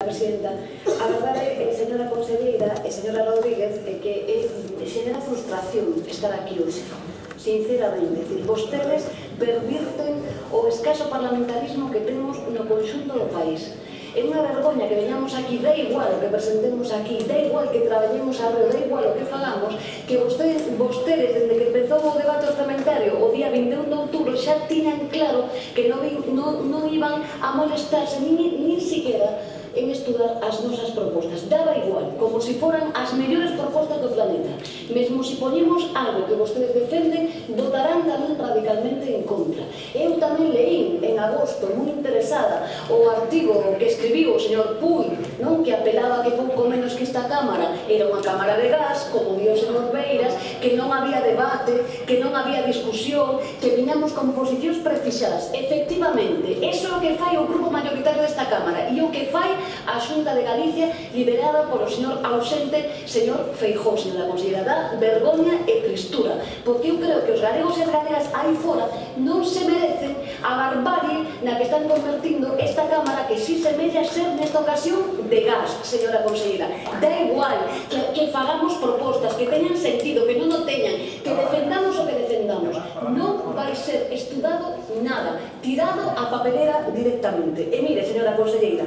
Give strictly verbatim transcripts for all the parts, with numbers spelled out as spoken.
Presidenta, a verdade, señora conselleira e señora Rodríguez, é que xenera frustración estar aquí hoxe, sinceramente. É dicir, vostedes pervirten o escaso parlamentarismo que temos no conxunto do país. É unha vergoña que veñamos aquí, da igual o que presentemos aquí, da igual que traballemos arreo, da igual o que fagamos, que vostedes, vostedes desde que empezou o debate orzamentario o día vinte e un de outubro, xa tiñan claro que non, non, non iban a molestarse nin, nin siquiera en estudar as nosas propostas. Daba igual, como se foran as mellores propostas do planeta. Mesmo se poñemos algo que vostedes defenden, votarán tamén radicalmente en contra. Eu tamén leí en agosto, moi interesada, o artigo que escribiu o señor Puy, non, que apelaba que pouco menos que esta Cámara era unha cámara de gas, como dio o señor Beiras, que non había debate, que non había discusión, que viñamos con posicións precisadas. Efectivamente, eso é o que fai o grupo mayoritario desta Cámara e o que fai a Xunta de Galicia, liderada polo señor ausente, señor Feijóo, señora conselleira. Da vergoña e tristura, porque eu creo que os galegos e as galegas aí fora non se merecen a barbarie na que están convertindo esta Cámara, que si semella ser nesta ocasión de gas, señora conselleira. Da igual que, que fagamos propostas que teñan sentido, que non o teñan, que defendamos o que defendamos, non vai ser estudado nada, tirado a papelera directamente. E mire, señora conselleira,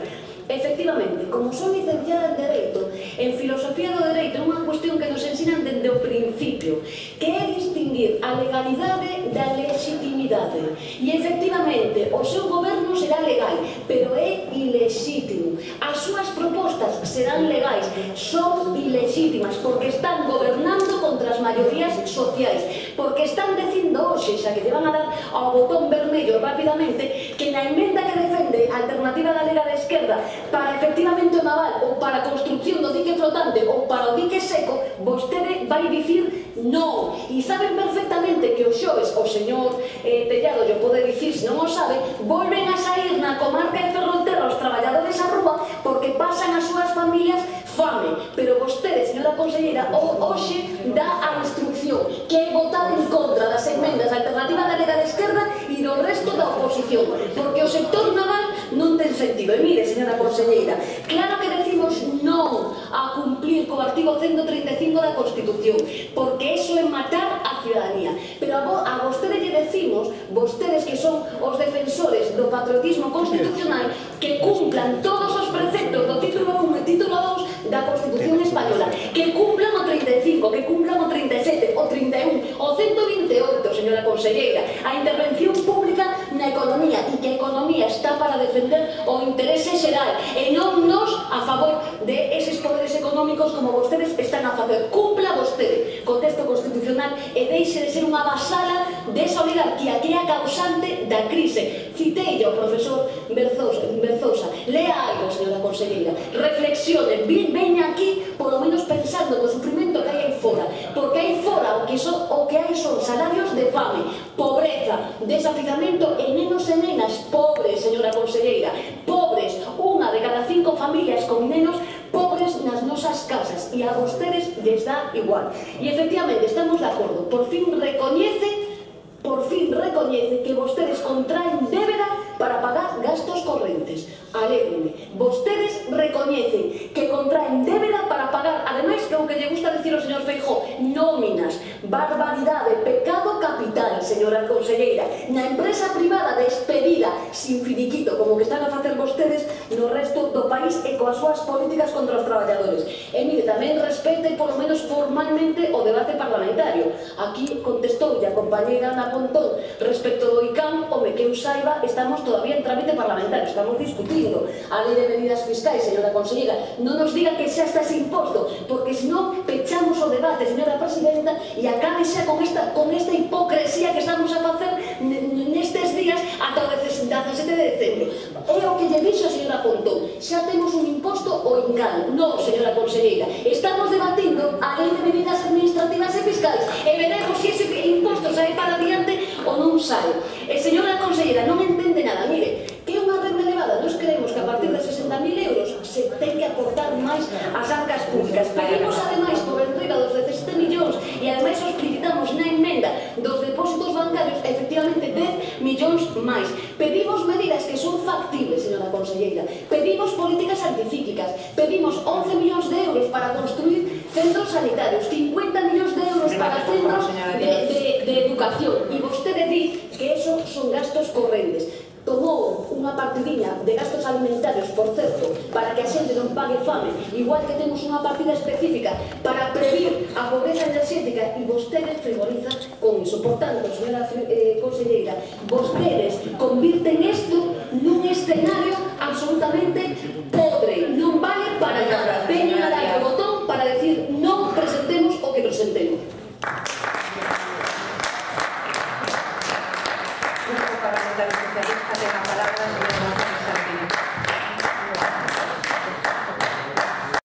efectivamente, como son licenciada en Dereito, en Filosofía do Dereito é unha cuestión que nos ensinan desde o principio, que é distinguir a legalidade da legitimidade. E efectivamente, o seu goberno será legal, pero é ilexítimo. As súas propostas serán legais, son ilexítimas, porque están gobernando contra as maiorías sociais, porque están dicindo hoxe, xa que te van a dar ao botón vermello rapidamente, que na emenda que defende a Alternativa Galega da Esquerda para efectivamente o naval ou para a construcción do dique flotante ou para o dique seco, vostede vai dicir non. E saben perfectamente que o xoves o señor eh, Tellado lle pode dicir, se non o sabe, volven a sair na comarca de Ferrolterra os traballadores á rúa porque pasan as súas familias fame. Pero vostede, señora conselleira, hoxe dá a instrucción que é votar en contra das enmendas da Alternativa Galega da Esquerda e do resto da oposición, porque o sector naval non ten sentido. E mire, señora conselleira, claro que decimos non a cumplir co artigo ciento treinta e cinco da Constitución, porque eso é matar a ciudadanía. Pero a, vo, a vostede lle decimos, vostedes que son os defensores do patriotismo constitucional, que cumplan todos os preceptos do título un e título dous da Constitución española, que cumplan o treinta e cinco, que cumplan o treinta e sete, o treinta e un, o ciento vinte e oito, señora conselleira, a intervención pública na economía, e que a economía está para defender o interese xeral e non nos a favor de eses poderes económicos como vostedes están a facer. Cumpla vostede co texto constitucional e deixe de ser unha vasala desa oligarquía que é a causante da crise. Citei ao profesor Berzosa. Lea algo, señora conselleira, reflexione, veña aquí polo menos pensando no sufrimento que hai aí fora, porque aí fora o que, son, o que hai son salarios de fame, pobreza, desafiamento e nenos e nenas pobres, señora conselleira, pobres, unha de cada cinco familias con nenos pobres nas nosas casas, e a vostedes les dá igual. E efectivamente estamos de acordo, por fin recoñece por fin recoñece que vostedes contraen débeda para pagar gastos correntes. Alégreme, vostedes recoñecen que contraen débeda para pagar, ademais, que o que lle gusta decir ao señor Feijóo, nóminas, barbaridade, pecado capital, señora conselleira, na empresa privada despedida sin finiquito, como que están a facer vostedes no resto do país e coas súas políticas contra os traballadores. E mire, tamén respete polo menos formalmente o debate parlamentario. Aquí contestou a compañeira Ana Pontón respecto do I C A M, home, que eu saiba, estamos todavía en trámite parlamentario, estamos discutindo a lei de medidas fiscais, señora conselleira. Non nos diga que xa está ese imposto, porque senón pechamos o debate, señora presidenta, e acabe xa con esta, con esta hipocresía que estamos a facer nestes días ata o dezasete de decembro. É o que lle dixo a señora Pontón, xa temos un imposto o INCAL. Non, señora conselleira, estamos debatindo a lei de medidas administrativas e fiscais e veremos se ese imposto sae para adiante ou non sae. E señora conselleira, non entende nada. Mire, que é unha renda elevada, nos creemos que a partir de sesenta mil euros se ten que aportar máis ás arcas públicas. Pedimos ademais por enriba dos dezasete millóns e ademais os explicitamos na emenda dos depósitos bancarios efectivamente dez millóns máis. Pedimos medidas que son factibles, señora conselleira. Pedimos políticas anticíclicas. Pedimos once millóns de euros para construir centros sanitarios, cincuenta millóns de euros para centros de, de, de educación, e vostede di que eso son gastos correntes. Tomou unha partidinha de gastos alimentarios, por certo, para que a xente non pague fame, igual que temos unha partida específica para previr a pobreza enerxética, e vostedes frivoliza con iso. Por tanto, señora eh, conselleira, vostedes convirten isto nun escenario